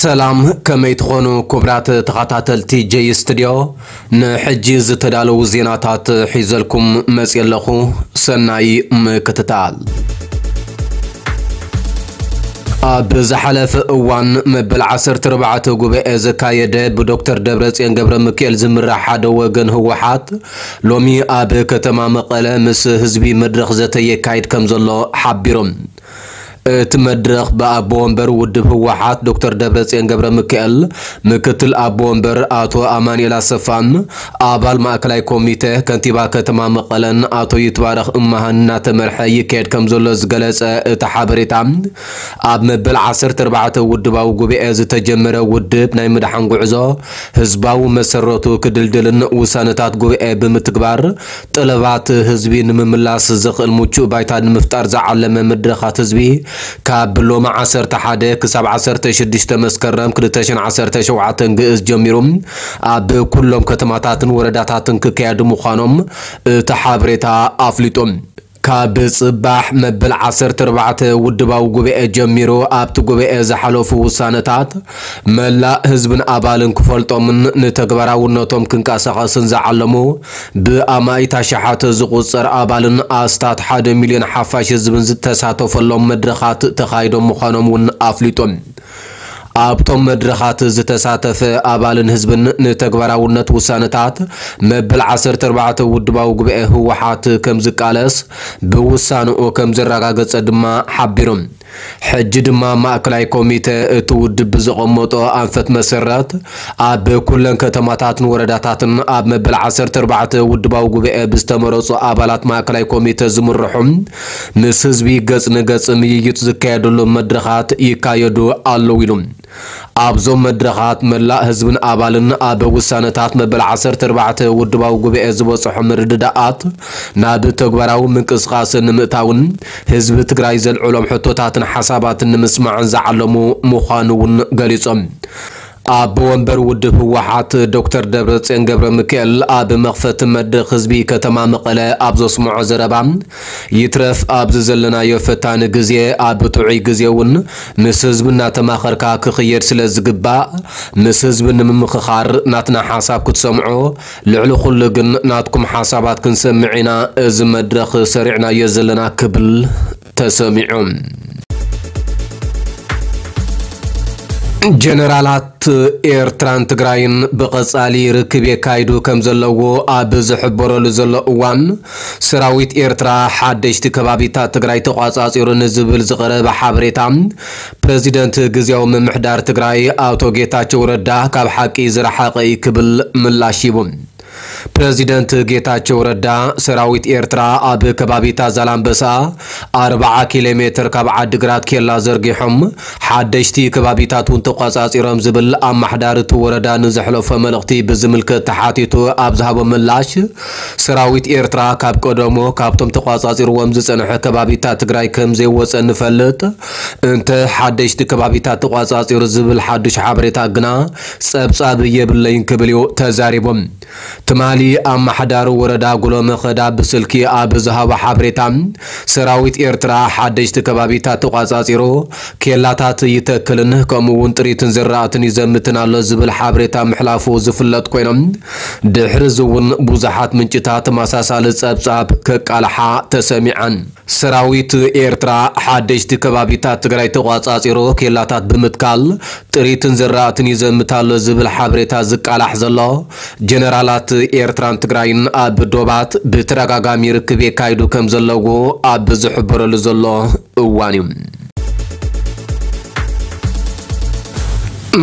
ሰላም፣ ከመይ ትኾኑ ክቡራት ተኸታተልቲ ጀይ ስቱድዮ? ንሕጂ ዝተዳለዉ ዜናታት ሒዘልኩም መፅየ ኣለኹ። ሰናይ ምክትታል። ኣብ ዝሓለፈ እዋን መበል ዓሰርተ ኣርባዕተ ጉባኤ ዘካየደ ብዶክተር ደብረፅዮን ገብረ ሚካኤል ዝምራሕ ሓደ ወገን ህወሓት ሎሚ ኣብ ከተማ መቐለ ምስ ህዝቢ መድረኽ ዘተ የካይድ ከም ዘሎ ሓቢሮም። እቲ መድረኽ ብኣቦ ወንበር ውድብ ህወሓት ዶክተር ደብረፅዮን ገብረ ሚካኤል፣ ምክትል ኣቦ ወንበር ኣቶ ኣማኑኤል ኣሰፋን ኣባል ማእከላይ ኮሚተ ከንቲባ ከተማ መቐለን ኣቶ ይትባረኽ እማሃን እናተመርሐ ይካየድ ከም ዘሎ ዝገለጸ እቲ ሓበሬታ፣ ኣብ መበል ዓሰርተ ኣርባዕተ ውድባዊ ጉባኤ ዝተጀመረ ውድብ ናይ ምድሓን ጉዕዞ ህዝባዊ መሰረቱ ክድልድልን ውሳነታት ጉባኤ ብምትግባር ጠለባት ህዝቢ ንምምላስ ዘኽእል ምቹእ ባይታ ንምፍጣር ዝዓለመ መድረኻት ህዝቢ ካብ ሎሚ ዓሰርተ ሓደ ክሳብ ዓሰርተ ሽዱሽተ መስከረም ክልተ ሽሕን ዓሰርተ ሸውዓተን ግእዝ ጀሚሩ ኣብ ኩሎም ከተማታትን ወረዳታትን ክካየዱ ምዃኖም እቲ ሓበሬታ ኣፍሊጡ። ካብ ጽባሕ መበል ዓሰርተ ኣርባዕተ ውድባዊ ጉባኤ ጀሚሩ ኣብቲ ጉባኤ ዝሓለፉ ውሳነታት መላእ ህዝብን ኣባልን ክፈልጦምን ንተግባራውነቶም ክንቀሳቐስን ዝዓለሙ ብኣማኢት ኣሽሓት ዝቑጸር ኣባልን ኣስታት ሓደ ሚልዮን ሓፋሽ ህዝብን ዝተሳተፈሎም መድረኻት ተኻይዶም ምዃኖም እውን ኣፍሊጡ። ኣብቶም መድረኻት ዝተሳተፈ ኣባልን ህዝብን ንተግባራውነት ውሳነታት መበል ዓሰርተ ኣርባዕተ ውድባዊ ጉባኤ ህወሓት ከም ዝቃለስ ብውሳንኡ ከም ዘረጋገጸ ድማ ሓቢሩ። ሕጂ ድማ ማእከላይ ኮሚተ እቲ ውድብ ብዘቐመጦ ኣንፈት መሰረት ኣብ ኩለን ከተማታትን ወረዳታትን ኣብ መበል ዓሰርተ ኣርባዕተ ውድባዊ ጉባኤ ብዝተመረጹ ኣባላት ማእከላይ ኮሚተ ዝምርሑ ምስ ህዝቢ ገጽ ንገጽ ምይይጥ ዝካየደሉ መድረኻት ይካየዱ ኣለዉ ኢሉ። ኣብዞም መድረኻት መላእ ህዝብን ኣባልን ኣብ ውሳነታት መበል ዓሰርተ ኣርባዕተ ውድባዊ ጉባኤ ዝበጽሖ ምርድዳኣት ናብ ተግባራዊ ምንቅስቓስ ንምእታውን ህዝቢ ትግራይ ዘልዕሎም ሕቶታትን ሓሳባትን ንምስማዕን ዝዓለሙ ምዃኑ እውን ገሊጾም። ኣቦ ወንበር ውድብ ህወሓት ዶክተር ደብረጽዮን ገብረ ሚካኤል ኣብ መኽፈቲ መድረኽ ህዝቢ ከተማ መቐለ ኣብ ዘስምዖ ዘረባ፣ ይትረፍ ኣብዚ ዘለናዮ ፈታኒ ግዜ ኣብ ጥዑይ ግዜ እውን ምስ ህዝቢ እናተማኸርካ ክኽየድ ስለ ዝግባእ ምስ ህዝቢ ንምምኽኻር ናትና ሓሳብ ክትሰምዑ፣ ልዕሊ ኩሉ ግን ናትኩም ሓሳባት ክንሰምዕ ኢና እዚ መድረኽ ሰሪዕናዮ ዘለና ክብል ተሰሚዑ። ጀነራላት ኤርትራን ትግራይን ብቐጻሊ ርክብ የካይዱ ከም ዘለዎ ኣብ ዝሕበረሉ ዘሎ እዋን፣ ሰራዊት ኤርትራ ሓደሽቲ ከባቢታት ትግራይ ተቋጻጺሩ ንዝብል ዝቐረበ ሓበሬታ፣ ፕረዚደንት ግዝያዊ ምምሕዳር ትግራይ ኣቶ ጌታቸው ረዳ ካብ ሓቂ ዝረሓቐ እዩ ክብል ምላሽ ሂቡ። ፕረዚደንት ጌታቸው ረዳ፣ ሰራዊት ኤርትራ ኣብ ከባቢታት ዛላምበሳ ኣርብዓ ኪሎ ሜትር ካብ ዓዲግራት ኬላ ዘርጊሖም ሓደሽቲ ከባቢታት እውን ተቋጻጺሮም ዝብል ኣማሕዳሪ እቲ ወረዳ ንዘሕለፎ መልእኽቲ ብዝምልከት ተሓቲቱ ኣብ ዝሃቦ ምላሽ፣ ሰራዊት ኤርትራ ካብ ቀደሙ ካብቶም ተቋጻጺርዎም ዝጸንሐ ከባቢታት ትግራይ ከም ዘይወጸ ንፈልጥ፣ እንተ ሓደሽቲ ከባቢታት ተቋጻጺሩ ዝብል ሓዱሽ ሓበሬታ ግና ጸብጻብ የብለይን ክብል እዩ ተዛሪቡ። ትማሊ ኣማሓዳሪ ወረዳ ጉሎ መኸዳ ብስልኪ ኣብ ዝሃቦ ሓበሬታ፣ ሰራዊት ኤርትራ ሓደሽቲ ከባቢታት ተቋጻጺሩ ኬላታት ይተክልን ከምኡ እውን ጥሪትን ዝራእትን ይዘምትን ኣሎ ዝብል ሓበሬታ ምሕላፉ ዝፍለጥ ኮይኖም፣ ድሕሪ እዚ እውን ብዙሓት ምንጭታት ተመሳሳሊ ጸብጻብ ከቃልሓ ተሰሚዐን። ሰራዊት ኤርትራ ሓደሽቲ ከባቢታት ትግራይ ተቋጻጺሩ ኬላታት ብምትካል ጥሪትን ዝራእትን ይዘምት ኣሎ ዝብል ሓበሬታ ዝቃላሕ ዘሎ፣ ጀነራላት ኤርትራን ትግራይን ኣብ ዶባት ብተደጋጋሚ ርክብ የካይዱ ከም ዘለዉ ኣብ ዝሕበረሉ ዘሎ እዋን እዩ።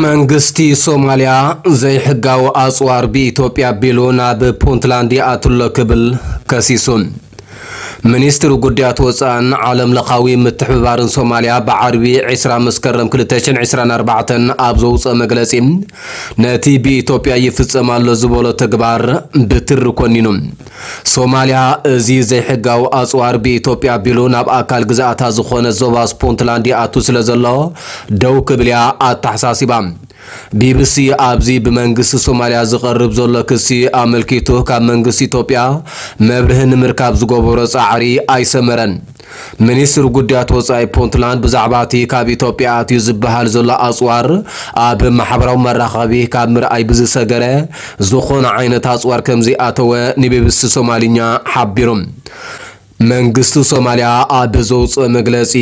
መንግስቲ ሶማልያ ዘይሕጋዊ ኣጽዋር ብኢትዮጵያ ኣቢሉ ናብ ፑንትላንድ ይኣቱ ኣሎ ክብል ከሲሱ። ሚኒስትሪ ጉዳያት ወጻእን ዓለም ለኻዊ ምትሕብባርን ሶማልያ ብዓርቢ ዕስራ መስከረም ክልተ ሽሕን ዕስራን ኣርባዕተን ኣብ ዘውፅኦ መግለፂ፣ ነቲ ብኢትዮጵያ ይፍጸም ኣሎ ዝበሎ ተግባር ብትሪ ኮኒኑ። ሶማልያ እዚ ዘይሕጋዊ ኣጽዋር ብኢትዮጵያ ኣቢሉ ናብ ኣካል ግዝኣታ ዝኾነ ዞባ ፑንትላንድ ይኣቱ ስለ ዘሎ ደው ክብል እያ ኣተሓሳሲባ። ቢቢሲ ኣብዚ ብመንግስቲ ሶማልያ ዝቐርብ ዘሎ ክሲ ኣመልኪቱ ካብ መንግስቲ ኢትዮጵያ መብርሂ ንምርካብ ዝገበሮ ጻዕሪ ኣይሰመረን። ሚኒስትሪ ጉዳያት ወጻኢ ፑንትላንድ ብዛዕባ እቲ ካብ ኢትዮጵያ ኣትዩ ዝበሃል ዘሎ ኣጽዋር ኣብ ማሕበራዊ መራኸቢ ካብ ምርኣይ ብዝሰገረ፣ ዝኾነ ዓይነት ኣጽዋር ከም ዘይኣተወ ንቢቢሲ ሶማልኛ ሓቢሩ። መንግስቲ ሶማልያ ኣብ ዘውፅኦ መግለፂ፣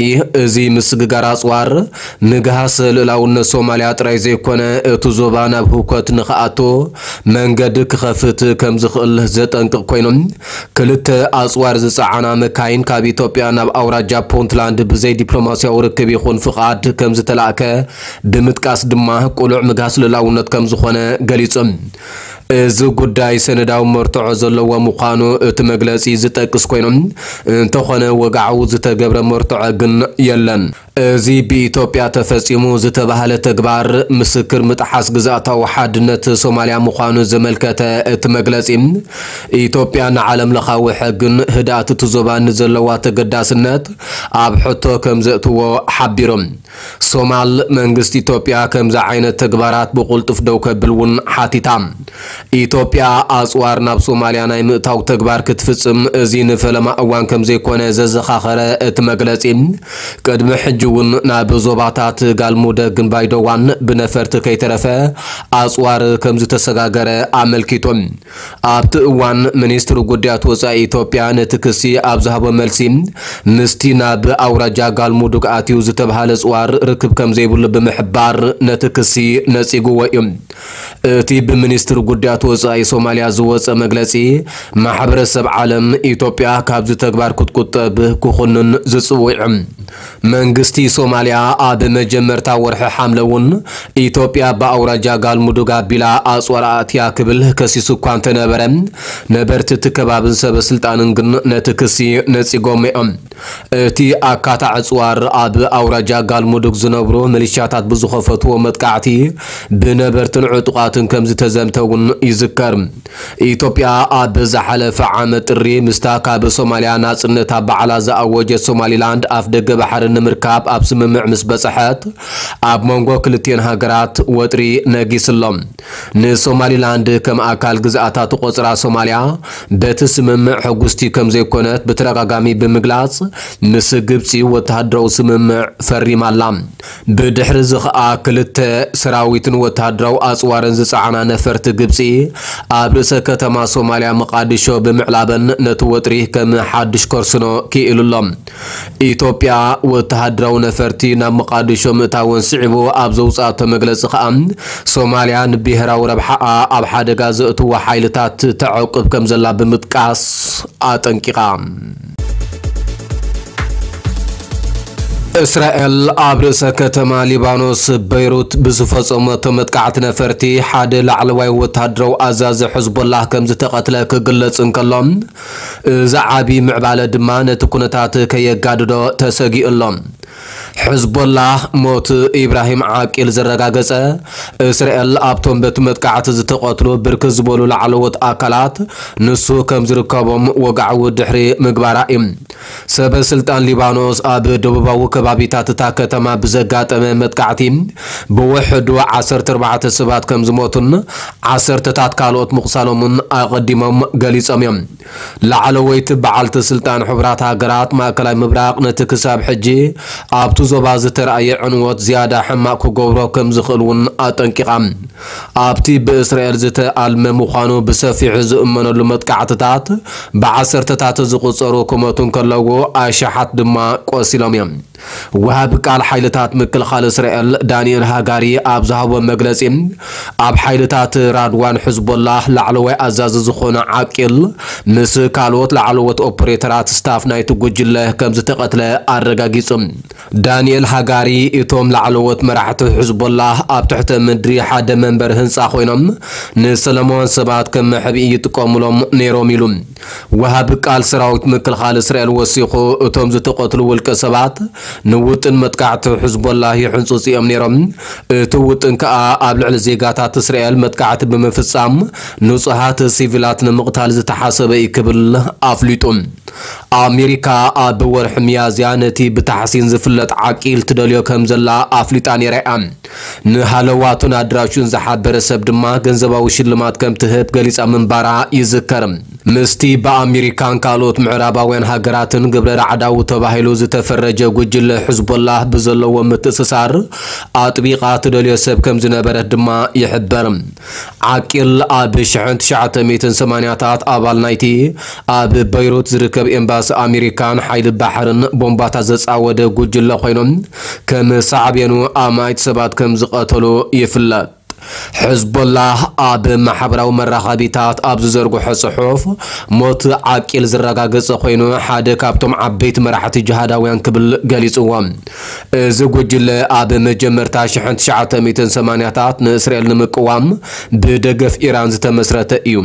እዚ ምስግጋር ኣፅዋር ምግሃስ ልእላውነት ሶማልያ ጥራይ ዘይኮነ፣ እቲ ዞባ ናብ ህውከት ንኽኣቱ መንገዲ ክኸፍት ከም ዝኽእል ዘጠንቅቕ ኮይኑ፣ ክልተ ኣፅዋር ዝፀዓና መካይን ካብ ኢትዮጵያ ናብ ኣውራጃ ፑንትላንድ ብዘይ ዲፕሎማሲያዊ ርክብ ይኹን ፍቓድ ከም ዝተላእከ ብምጥቃስ ድማ፣ ቅሉዕ ምግሃስ ልእላውነት ከም ዝኾነ ገሊጹ። እዚ ጉዳይ ሰነዳዊ መርትዖ ዘለዎ ምዃኑ እቲ መግለጺ ዝጠቅስ ኮይኑ፣ እንተኾነ ወግዓዊ ዝተገብረ መርትዖ ግን የለን። እዚ ብኢትዮጵያ ተፈጺሙ ዝተባህለ ተግባር ምስክር ምጥሓስ ግዝኣታዊ ሓድነት ሶማልያ ምዃኑ ዘመልከተ እቲ መግለጺ፣ ኢትዮጵያ ንዓለም ለኻዊ ሕግን ህድኣት እቲ ዞባን ዘለዋ ተገዳስነት ኣብ ሕቶ ከም ዘእትዎ ሓቢሩ። ሶማል፣ መንግስቲ ኢትዮጵያ ከምዚ ዓይነት ተግባራት ብቕልጡፍ ደው ከብል እውን ሓቲታ። ኢትዮጵያ ኣጽዋር ናብ ሶማልያ ናይ ምእታው ተግባር ክትፍጽም፣ እዚ ንፈለማ እዋን ከም ዘይኮነ ዘዘኻኸረ እቲ መግለጺ፣ ቅድሚ ሕጂ እውን ናብ ዞባታት ጋልሙደግን ባይደዋን ብነፈርቲ ከይተረፈ ኣጽዋር ከም ዝተሰጋገረ ኣመልኪቱ። ኣብቲ እዋን፣ ሚኒስትሪ ጉዳያት ወጻኢ ኢትዮጵያ ነቲ ክሲ ኣብ ዝሃቦ መልሲ፣ ምስቲ ናብ ኣውራጃ ጋልሙዱግ ኣትዩ ዝተባህለ ጽዋር ርክብ ከም ዘይብሉ ብምሕባር፣ ነቲ ክሲ ነጺግዎ እዩ። እቲ ብሚኒስትሪ ጉዳያት ወጻኢ ሶማልያ ዝወጸ መግለጺ፣ ማሕበረሰብ ዓለም ኢትዮጵያ ካብዚ ተግባር ክትቁጠብ ክኹንን ዝጽውዕ። መንግስቲ ሶማልያ ኣብ መጀመርታ ወርሒ ሓምለ እውን ኢትዮጵያ ብኣውራጃ ጋልሙዱግ ኣቢላ ኣጽዋር ኣእትያ ክብል ከሲሱ እኳ እንተነበረ፣ ነበርቲ እቲ ከባብን ሰበ ስልጣንን ግን ነቲ ክሲ ነጺጎም እዮም። እቲ ኣካታዕ ኣጽዋር ኣብ ኣውራጃ ጋልሙዱግ ዝነብሩ ሚሊሻታት ብዝኸፈትዎ መጥቃዕቲ ብነበርትን ዕጡቓትን ከም ዝተዘምተ እውን ይዝከር። ኢትዮጵያ ኣብ ዝሓለፈ ዓመት ጥሪ ምስታ ካብ ሶማልያ ናጽነታ ባዕላ ዝኣወጀት ሶማሊላንድ ኣፍደገ ባሕሪ ንምርካብ ኣብ ስምምዕ ምስ በጽሐት፣ ኣብ መንጎ ክልቲኤን ሃገራት ወጥሪ ነጊስሎም። ንሶማሊላንድ ከም ኣካል ግዝኣታ ትቖጽራ ሶማልያ፣ በቲ ስምምዕ ሕጉስቲ ከም ዘይኮነት ብተደጋጋሚ ብምግላጽ፣ ምስ ግብጺ ወተሃደራዊ ስምምዕ ፈሪማ ኣላ። ብድሕሪ እዚ ኸኣ ክልተ ሰራዊትን ወተሃደራዊ ኣጽዋርን ዝጸዓና ነፈርቲ ግብጺ ኣብ ርእሰ ከተማ ሶማልያ መቓዲሾ ብምዕላበን ነቲ ወጥሪ ከም ሓድሽ ከርስኖ ክኢሉ ኣሎ። ኢትዮጵያ ወተሃደራዊ ነፈርቲ ናብ መቓዲሾ ምእታወን ስዒቡ ኣብ ዘውጽኣቶ መግለጺ ኸኣ ሶማልያ ንብሄራዊ ረብሓኣ ኣብ ሓደጋ ዘእትዎ ሓይልታት ተዕቁብ ከም ዘላ ብምጥቃስ ኣጠንቂቓ። እስራኤል ኣብ ርእሰ ከተማ ሊባኖስ በይሩት ብዝፈጸመቶ መጥቃዕቲ ነፈርቲ ሓደ ላዕለዋይ ወተሃደራዊ ኣዛዚ ሕዝቦላህ ከም ዝተቐትለ ክግለጽ እንከሎ፣ እዚ ዓቢ ምዕባለ ድማ ነቲ ኩነታት ከየጋድዶ ተሰጊኡ ኣሎ። ሕዝቦላህ ሞት ኢብራሂም ዓቂል ዘረጋገጸ፣ እስራኤል ኣብቶም በቲ መጥቃዕቲ ዝተቐትሉ ብርክት ዝበሉ ላዕለዎት ኣካላት ንሱ ከም ዝርከቦም ወግዓዊ ድሕሪ ምግባራ እዩ። ሰበ ስልጣን ሊባኖስ ኣብ ደቡባዊ ከባቢታት እታ ከተማ ብዘጋጠመ መጥቃዕቲ ብውሕዱ ዓሰርተ ኣርባዕተ ሰባት ከም ዝሞቱን ዓሰርተታት ካልኦት ምቑሳሎምን ኣቐዲሞም ገሊጾም እዮም። ላዕለወይቲ በዓልቲ ስልጣን ሕቡራት ሃገራት ማእከላይ ምብራቕ ነቲ ክሳብ ሕጂ ኣብቲ ዞባ ዝተራእየ ዕንወት ዝያዳ ሕማቕ ክገብሮ ከም ዝኽእል እውን ኣጠንቂቓ። ኣብቲ ብእስራኤል ዝተኣልመ ምዃኑ ብሰፊሑ ዝእመነሉ መጥቃዕትታት ብዓሰርተታት ዝቑጸሩ ክሞቱ እንከለዉ ኣሽሓት ድማ ቆሲሎም እዮም። ወሃቢ ቃል ሓይልታት ምክልኻል እስራኤል ዳንኤል ሃጋሪ ኣብ ዝሃቦ መግለጺ፣ ኣብ ሓይልታት ራድዋን ሕዝቦላህ ላዕለዋይ ኣዛዚ ዝኾነ ዓቂል ምስ ካልኦት ላዕለዎት ኦፐሬተራት ስታፍ ናይቲ ጉጅለ ከም ዝተቐትለ ኣረጋጊጹ። ዳንኤል ሃጋሪ፣ እቶም ላዕለዎት መራሕቲ ሕዝቦላህ ኣብ ትሕተ ምድሪ ሓደ መንበሪ ህንጻ ኮይኖም ንሰላማውያን ሰባት ከም መሕብኢ ይጥቀሙሎም ነይሮም ኢሉ። ወሃቢ ቃል ሰራዊት ምክልኻል እስራኤል ወሲኹ፣ እቶም ዝተቐትሉ ውልቀ ሰባት ንውጥን መጥቃዕቲ ሕዝቦላህ ይሕንጽጹ እዮም ነይሮም። እቲ ውጥን ከኣ ኣብ ልዕሊ ዜጋታት እስራኤል መጥቃዕቲ ብምፍጻም ንጹሃት ሲቪላት ንምቕታል ዝተሓሰበ እዩ ክብል ኣፍሊጡ። ኣሜሪካ ኣብ ወርሒ ሚያዝያ ነቲ ብታሕሲን ዝፍለጥ ዓቂል ትደልዮ ከም ዘላ ኣፍሊጣ ነይራ እያ። ንሃለዋቱን ኣድራሹን ዝሓበረ ሰብ ድማ ገንዘባዊ ሽልማት ከም ትህብ ገሊጻ ምንባራ ይዝከር። ምስቲ ብኣሜሪካን ካልኦት ምዕራባውያን ሃገራትን ግብረ ራዕዳዊ ተባሂሉ ዝተፈረጀ ጉጅለ ሕዝቦላህ ብዘለዎ ምትእስሳር ኣጥቢቓ ትደልዮ ሰብ ከም ዝነበረት ድማ ይሕበር። ዓቂል ኣብ ሽሕን ትሽዓተ ሚእትን ሰማንያታት ኣባል ናይቲ ኣብ በይሩት ዝርከብ ኤምባሲ ኣሜሪካን ሓይሊ ባሕርን ቦምባታት ዘጻወደ ጉጅለ ኮይኖም ከም ሳዕቤኑ ኣማኢት ሰባት ከም ዝቐተሉ ይፍለጥ። ሕዝቦላህ ኣብ ማሕበራዊ መራኸቢታት ኣብ ዝዘርግሖ ጽሑፍ ሞት ዓቂል ዝረጋገጸ ኮይኑ ሓደ ካብቶም ዓበይቲ መራሕቲ ጅሃዳውያን ክብል ገሊጽዎ። እዚ ጉጅለ ኣብ መጀመርታ ሽሕን ትሽዓተ ሚእትን ሰማንያታት ንእስራኤል ንምቅዋም ብደገፍ ኢራን ዝተመስረተ እዩ።